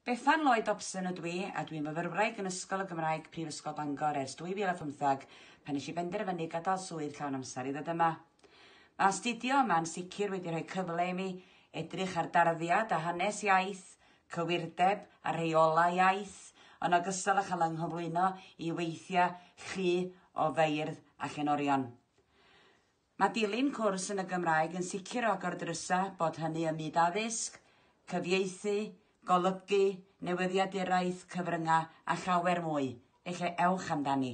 Bethan Lloyd Dobson ydw i a dwi'n fyfyrwraig yn Ysgol y Gymraeg Prifysgol Bangor ers 2015 pan nes i benderfynu gadael swydd llawn amser i ddod yma. Mae astudio yma'n sicr wedi rhoi cyfle i mi edrych ar darddiad a hanes iaith, cywirdeb a rheolau iaith, yn ogystal â chael yng nghyflwyno i weithiau llu o feirdd a llenorion. Mae dilyn cwrs yn y Gymraeg yn sicr o agor drysau bod hynny ym myd addysg, cyfieithu, golygu, newyddiaduraeth, cyfryngau a llawer mwy, felly ewch amdani.